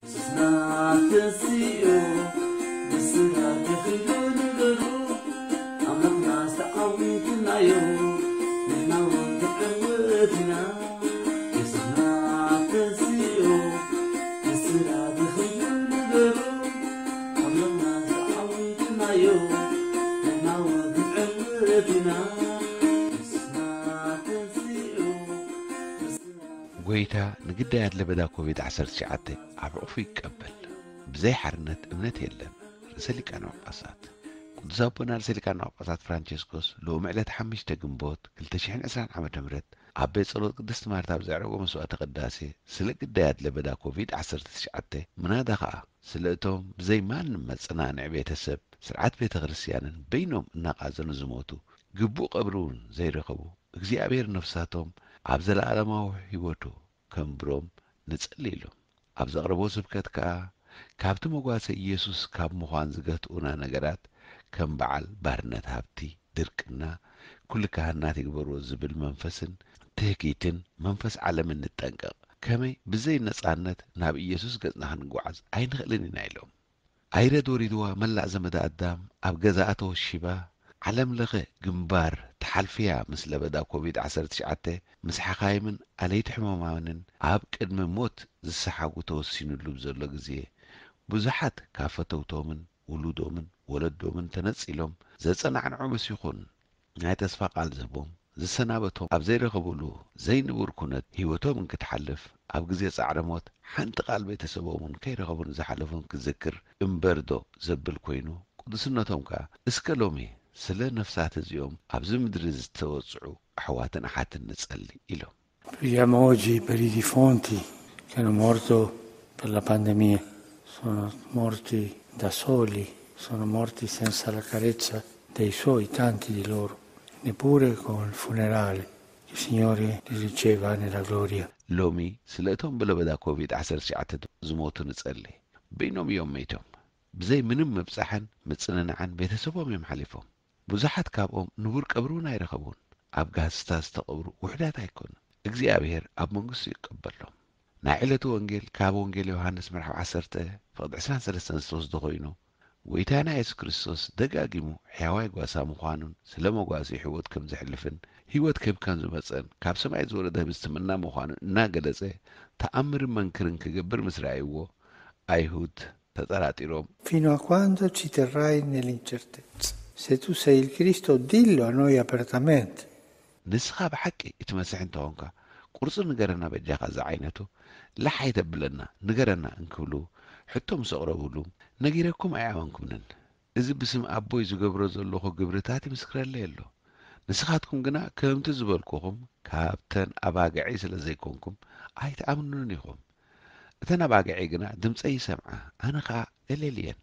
ስና ተንስኡ ብስራት ተኺሉ ነገሩ ኣምላኽና ዝተዓወትናዮ ንሕና እውን ክንዕወት ኢና። የሱስና ተንስኡ ብስራት ተኺሉ ነገሩ ኣምላኽና ዝተዓወትናዮ ንሕና እውን ክንዕወት ኢና። የሱስና ተንስኡ ብስራት ጎይታ ንግዳያት ለበዳ ኮቪድ ዓሰርተ ትሽዓተ ኣብ ሕቑፉ ይቀበል። ብዘይ ሓርነት እምነት የለን። ርእሰ ሊቃነ ጳጳሳት ቅዱስ ኣቦና ርእሰ ሊቃነ ጳጳሳት ፍራንቸስኮስ ሎሚ ዕለት ሓሙሽተ ግንቦት ክልተ ሽሕን ዕስራን ዓመተ ምህረት ኣብ ቤት ጸሎት ቅድስቲ ማርታ ኣብ ዘዕረጎ መስዋዕተ ቅዳሴ ስለ ግዳያት ለበዳ ኮቪድ ዓሰርተ ትሽዓተ ምናዳ ኸኣ ስለ እቶም ብዘይ ማንም መጸናንዒ ቤተሰብ ስርዓት ቤተ ክርስቲያንን በይኖም እናቓዘኑ ዝሞቱ ግቡእ ቀብሪ እውን ዘይረኸቡ እግዚኣብሔር ነፍሳቶም ኣብ ዘለዓለማዊ ህይወቱ ከንብሮም ንጸሊ ኢሎም ኣብ ዘቕረቦ ስብከት ከኣ ካብቲ መጓሰ ኢየሱስ ካብ ምዃን ዝገትኡና ነገራት ከም በዓል ባርነት ሃብቲ፣ ድርቅና፣ ኩሉ ካህናት ይግበርዎ ዝብል መንፈስን ትህኪትን መንፈስ ዓለምን ንጠንቀቕ። ከመይ ብዘይ ነጻነት ናብ ኢየሱስ ገጽና ክንጓዓዝ ኣይንኽእልን ኢና ኢሎም። ኣይረድ ወሪድዋ መላእ ዘመደ ኣዳም ኣብ ገዛኣ ተወሺባ ዓለም ለኸ ግንባር ትሓልፍያ ምስ ለበዳ ኮቪድ ዓሰርተ ትሽዓተ ምስ ሓኻይምን ኣለይቲ ሕሙማንን ኣብ ቅድሚ ሞት ዝሰሓጉ ተወሲኑሉ ብዘሎ ግዜ ብዙሓት ካብ ፈተውቶምን ውሉዶምን ወለዶምን ተነጺሎም ዘጸናዕንዖምስ ይኹን ናይ ተስፋ ቃል ዝህቦም ዝሰናበቶም ኣብ ዘይረኸብሉ ዘይንቡር ኩነት ህይወቶም እንክትሓልፍ ኣብ ግዜ ጻዕረ ሞት ሓንቲ ቃል ቤተሰቦም እውን ከይረኸቡ ንዝሓለፉን ክዝክር እምበር ዶ ዘብል ኮይኑ ቅዱስነቶም ከኣ እስከ ሎሚ ስለ ነፍሳት እዚኦም ኣብዚ ምድሪ ዝተወጽዑ ኣሕዋትን ኣሓትን ንጸሊ ኢሎም። Preghiamo oggi per i defunti che hanno morto per la pandemia. Sono morti da soli, sono morti senza la carezza dei suoi, tanti di loro, neppure col funerale. Il Signore li riceva nella gloria. ሎሚ ስለ እቶም ብለበዳ ኮቪድ ዓሰርተ ትሽዓተ ዝሞቱ ንጸሊ። በይኖም እዮም መይቶም። ብዘይ ምንም ምብጻሕን ምጽንናዕን ቤተሰቦም እዮም ሓሊፎም። ብዙሓት ካብኦም ንቡር ቀብሪ እውን ኣይረኸቡን። ኣብ ጋህስታ ዝተቐብሩ ውሑዳት ኣይኮኑን። እግዚኣብሔር ኣብ መንግስቱ ይቀበሎም። ናይ ዕለቱ ወንጌል ካብ ወንጌል ዮሃንስ ምዕራፍ ዓሰርተ ፍቕዲ ዕስራን ሰለስተን ዝተወስደ ኮይኑ፣ ጎይታና የሱስ ክርስቶስ ደጋጊሙ ሕያዋይ ጓሳ ምዃኑን ስለ መጓሲ ሕይወት ከም ዘሕልፍን ሕይወት ክህብ ከም ዝመጸን ካብ ሰማይ ዝወረደ ህብስቲ መና ምዃኑን እናገለጸ ተኣምርን መንክርን ክገብር ምስ ረኣይዎ ኣይሁድ ተጠራጢሮም Fino a quando ci terrai nell'incertezza? Se tu sei il Cristo, dillo a noi apertamente. ንስኻ ብሓቂ እቲ መሲሕ እንተኾንካ ቁርጹ ንገረና በጃኻ ዝዓይነቱ ላሕ ኣይተብለና ንገረና እንክብሉ ሕቶ ምስ ኣቕረብሉ ነጊረኩም ኣይኣመንኩምንን። እዚ ብስም ኣቦይ ዝገብሮ ዘለኹ ግብርታት ይምስክረለይ ኣሎ። ንስኻትኩም ግና ከምቲ ዝበልኩኹም ካብተን ኣባግዐይ ስለ ዘይኮንኩም ኣይትኣምኑንን ኢኹም። እተን ኣባግዐይ ግና ድምፀይ ይሰምዓ፣ ኣነ ኸኣ እሌል እየን፣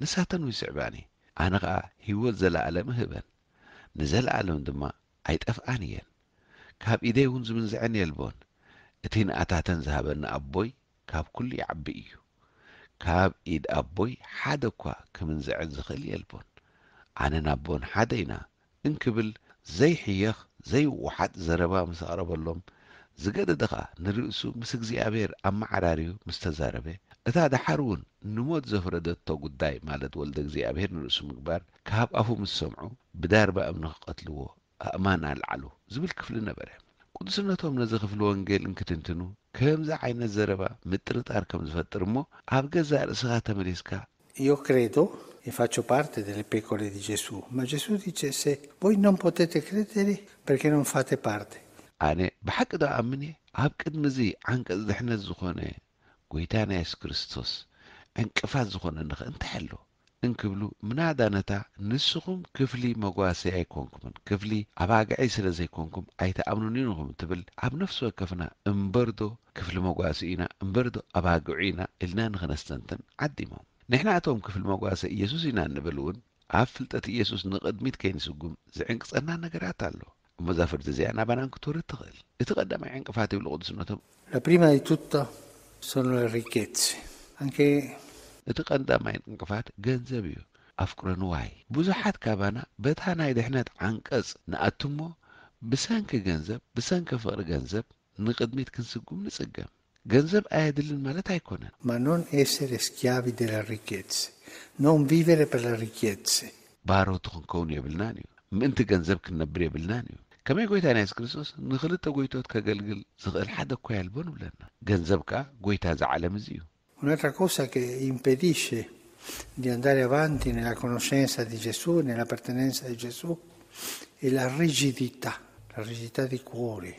ንሳተን ይስዕባኒ። ኣነ ኸኣ ህይወት ዘለኣለም እህበን፣ ንዘለኣለም ድማ ኣይጠፍኣን እየን። ካብ ኢደይ እውን ዝምንዝዐን የልቦን። እቲ ንኣታተን ዝሃበኒ ኣቦይ ካብ ኩሉ ይዓቢ እዩ። ካብ ኢድ ኣቦይ ሓደ እኳ ክምንዝዐን ዝኽእል የልቦን። ኣነን ኣቦን ሓደ ኢና እንክብል ዘይሕየኽ ዘይወሓጥ ዘረባ ምስ ኣቕረበሎም ዝገደደ ኸኣ ንርእሱ ምስ እግዚኣብሔር ኣመዓራርዩ ምስ ተዛረበ እታ ደሓር እውን ንሞት ዘፍረደቶ ጉዳይ ማለት ወልደ እግዚኣብሔር ንርእሱ ምግባር ካብ ኣፉ ምስ ሰምዑ ብዳርባ እምኒ ክቐትልዎ ኣእማን ኣልዓሉ ዝብል ክፍሊ ነበረ። ቅዱስነቶም ነዚ ክፍሊ ወንጌል እንክትንትኑ ከምዚ ዓይነት ዘረባ ምጥርጣር ከም ዝፈጥር እሞ ኣብ ገዛእ ርእስኻ ተመሊስካ Io credo e faccio parte delle pecore di Gesù, ma Gesù dice se voi non potete credere perché non fate parte. ኣነ ብሓቂ ዶ ኣምን እየ ኣብ ቅድሚ እዚ ዓንቀጽ ድሕነት ዝኾነ ጎይታና የሱስ ክርስቶስ ዕንቅፋት ዝኾነኒ ኸ እንታይ ኣሎ እንክብሉ ምናዳ ነታ ንስኹም ክፍሊ መጓሰይ ኣይኮንኩምን ክፍሊ ኣባግዐይ ስለ ዘይኮንኩም ኣይትኣምኑንን ኢኹም ትብል ኣብ ነፍሲ ወከፍና እምበርዶ ክፍሊ መጓሲ ኢና እምበርዶ ኣባግዑ ኢና ኢልና ንኽነስተንትን ዓዲሞም። ንሕና እቶም ክፍሊ መጓሰ ኢየሱስ ኢና እንብል እውን ኣብ ፍልጠት ኢየሱስ ንቕድሚት ከይንስጉም ዝዕንቅጸና ነገራት ኣሎ። እሞ እዛ ፍርዲ እዚኣ ናባና እንክትወርድ ትኽእል። እቲ ቀዳማይ ዕንቅፋት ይብሉ ቅዱስነቶም La prima di tutto sono le ricchezze. Anche እቲ ቀዳማይ ዕንቅፋት ገንዘብ እዩ። ኣፍቅሮ ንዋይ ብዙሓት ካባና በታ ናይ ድሕነት ዓንቀጽ ንኣትሞ ብሰንኪ ገንዘብ ብሰንኪ ፍቕሪ ገንዘብ ንቕድሚት ክንስጉም ንጽገም። ገንዘብ ኣየድልን ማለት ኣይኮነን። Ma non essere schiavi delle ricchezze, non vivere per le ricchezze. ባሮት ክንከውን የብልናን እዩ። ምእንቲ ገንዘብ ክንነብር የብልናን እዩ። ከመይ ጎይታ ናይ የሱስ ክርስቶስ ንክልተ ጎይቶት ከገልግል ዝኽእል ሓደ እኳ የልቦን ይብለና። ገንዘብ ከኣ ጎይታ እዚ ዓለም እዚ እዩ። Un'altra cosa che impedisce di andare avanti nella conoscenza di Gesù, nell'appartenenza di Gesù, è la rigidità, la rigidità di cuore.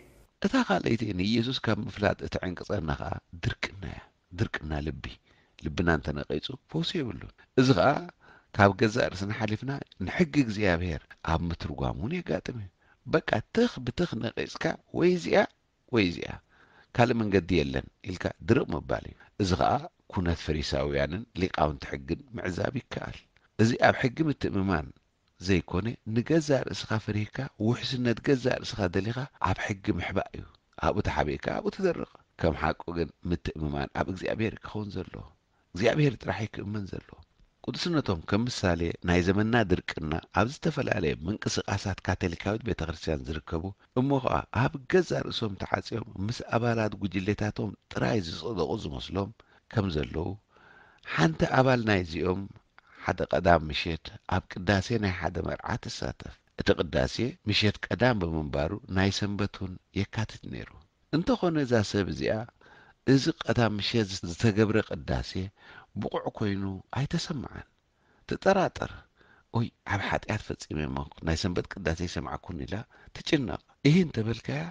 እታ ካልኣይቲ ንኢየሱስ ካብ ምፍላጥ እትዕንቅጸና ከኣ ድርቅና እያ። ድርቅና ልቢ፣ ልብና እንተነቒጹ ፈውሲ የብሉን። እዚ ኸኣ ካብ ገዛእ ርእስና ሓሊፍና ንሕጊ እግዚኣብሔር ኣብ ምትርጓም እውን የጋጥም እዩ። በቃ ትኽ ብትኽ ነቒጽካ ወይ እዚኣ ወይ እዚኣ፣ ካልእ መንገዲ የለን ኢልካ ድርቕ ምባል እዩ። እዚ ኸኣ ኩነት ፈሪሳውያንን ሊቃውንቲ ሕግን ምዕዛብ ይከኣል። እዚ ኣብ ሕጊ ምትእምማን ዘይኮነ፣ ንገዛእ ርእስኻ ፈሪህካ ውሕስነት ገዛእ ርእስኻ ደሊኻ ኣብ ሕጊ ምሕባእ እዩ። ኣብኡ ተሓቢእካ ኣብኡ ትደርቕ። ከም ሓቁ ግን ምትእምማን ኣብ እግዚኣብሔር ክኸውን ዘለዎ። እግዚኣብሔር ጥራሕ እዩ ክእመን ዘለዎ። ቅዱስነቶም ከም ምሳሌ ናይ ዘመንና ድርቅና ኣብ ዝተፈላለየ ምንቅስቃሳት ካቶሊካዊት ቤተ ክርስቲያን ዝርከቡ እሞ ኸኣ ኣብ ገዛእ ርእሶም ተዓጽዮም ምስ ኣባላት ጉጅሌታቶም ጥራይ ዝጸደቑ ዝመስሎም ከም ዘለዉ፣ ሓንቲ ኣባል ናይዚኦም ሓደ ቀዳም ምሸት ኣብ ቅዳሴ ናይ ሓደ መርዓ ትሳተፍ። እቲ ቅዳሴ ምሸት ቀዳም ብምንባሩ ናይ ሰንበት እውን የካትት ነይሩ። እንተኾነ እዛ ሰብ እዚኣ እዚ ቀዳም ምሸት ዝተገብረ ቅዳሴ ብቑዕ ኮይኑ ኣይተሰምዓን። ትጠራጠር። ኦይ፣ ዓቢ ሓጢኣት ፈጺመ እሞ ናይ ሰንበት ቅዳሴ ኣይሰማዕኩን ኢላ ትጭነቕ። እሂ እንተበልካያ፣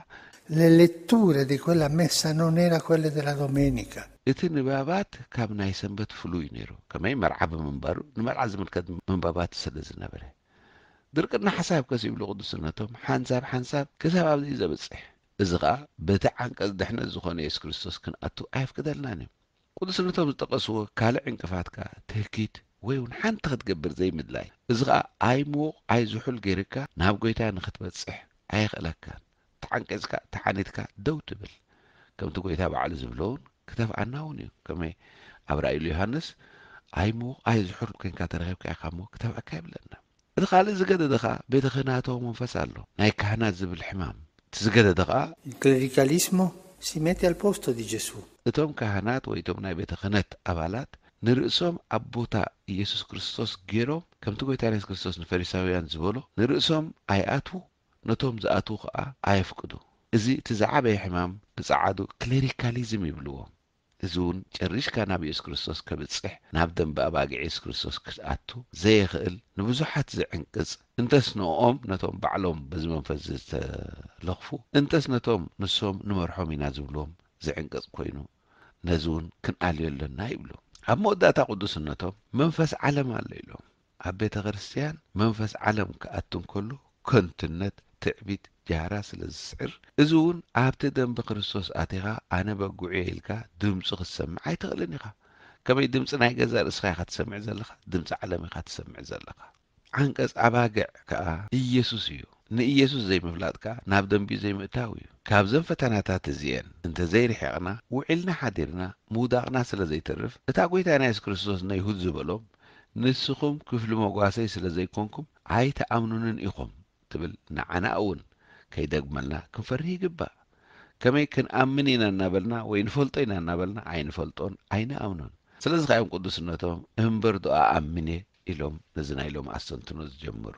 Le letture di quella messa non era quelle della domenica. እቲ ንባባት ካብ ናይ ሰንበት ፍሉይ ነይሩ። ከመይ መርዓ ብምንባሩ ንመርዓ ዝምልከት ምንባባት ስለ ዝነበረ። ድርቅና ሓሳብ ከስ ይብሉ ቅዱስነቶም ሓንሳብ ሓንሳብ ክሳብ ኣብዚ እዩ ዘብጽሕ። እዚ ኸኣ በቲ ዓንቀጽ ድሕነት ዝኾነ የሱስ ክርስቶስ ክንኣቱ ኣየፍቅደልናን እዩ። ቅዱስነቶም ዝጠቐስዎ ካልእ ዕንቅፋት ከኣ ትህኪት ወይ እውን ሓንቲ ክትገብር ዘይምድላይ። እዚ ኸኣ ኣይምዉቕ ኣይዝሑል ገይርካ ናብ ጎይታ ንኽትበጽሕ ኣየኽእለካን። ተዓንቂጽካ ተሓኒትካ ደው ትብል። ከምቲ ጎይታ ባዕሉ ዝብሎ እውን ክተፍኣና እውን እዩ። ከመይ ኣብ ራእይ ዮሃንስ ኣይምዉቕ ኣይዝሑል ኮይንካ ተረኺብካ ኢኻ እሞ ክተፍኣካ ይብለና። እቲ ካልእ ዝገደደ ኸኣ ቤተ ክህናታዊ መንፈስ ኣሎ፣ ናይ ካህናት ዝብል ሕማም። እቲ ዝገደደ ኸኣ Il clericalismo si mette al posto di Gesù. እቶም ካህናት ወይ እቶም ናይ ቤተ ክህነት ኣባላት ንርእሶም ኣብ ቦታ ኢየሱስ ክርስቶስ ገይሮም፣ ከምቲ ጎይታ የሱስ ክርስቶስ ንፈሪሳውያን ዝበሎ፣ ንርእሶም ኣይኣትዉ፣ ነቶም ዝኣትዉ ኸኣ ኣየፍቅዱ። እዚ እቲ ዝዓበየ ሕማም ብጸዓዱ ክሌሪካሊዝም ይብልዎ። እዚ እውን ጨሪሽካ ናብ የሱስ ክርስቶስ ከብጽሕ፣ ናብ ደንበ ኣባጊዕ የሱስ ክርስቶስ ክትኣቱ ዘየኽእል፣ ንብዙሓት ዝዕንቅጽ፣ እንተስ ንኦም ነቶም ባዕሎም በዚ መንፈስ ዝተለኽፉ፣ እንተስ ነቶም ንሶም ንመርሖም ኢና ዝብልዎም ዝዕንቅጽ ኮይኑ፣ ነዚ እውን ክንኣልዮ ኣለና ይብሉ። ኣብ መወዳእታ ቅዱስነቶም መንፈስ ዓለም ኣሎ ኢሎም። ኣብ ቤተ ክርስቲያን መንፈስ ዓለም ክኣቱ እንከሎ ከንቱነት፣ ትዕቢት፣ ጃህራ ስለ ዝስዕር፣ እዚ እውን ኣብቲ ደንበ ክርስቶስ ኣቲኻ ኣነ በጉዕ እየ ኢልካ ድምፁ ክትሰምዕ ኣይትኽእልን ኢኻ። ከመይ ድምፂ ናይ ገዛእ ርእስኻ ኢኻ ትሰምዕ ዘለኻ፣ ድምፂ ዓለም ኢኻ ትሰምዕ ዘለኻ። ዓንቀፅ ኣባግዕ ከኣ ኢየሱስ እዩ። ንኢየሱስ ዘይምፍላጥ ከኣ ናብ ደንቢኡ ዘይምእታው እዩ። ካብዘን ፈተናታት እዚኤን እንተዘይርሒቕና ውዒልና ሓዲርና ምውዳቕና ስለ ዘይተርፍ፣ እታ ጐይታና የሱስ ክርስቶስ ንኣይሁድ ዝበሎም፣ ንስኹም ክፍሊ መጓሰይ ስለ ዘይኮንኩም ኣይትኣምኑንን ኢኹም ትብል ንዓና እውን ከይደግመልና ክንፈርህ ይግባእ። ከመይ ክንኣምን ኢና እናበልና ወይ ንፈልጦ ኢና እናበልና ኣይንፈልጦን ኣይንኣምኖን። ስለዚ ከኣ እዮም ቅዱስነቶም እምበር ዶ ኣኣምን እየ ኢሎም ነዚ ናይ ሎሚ ኣስተንትኖ ዝጀመሩ።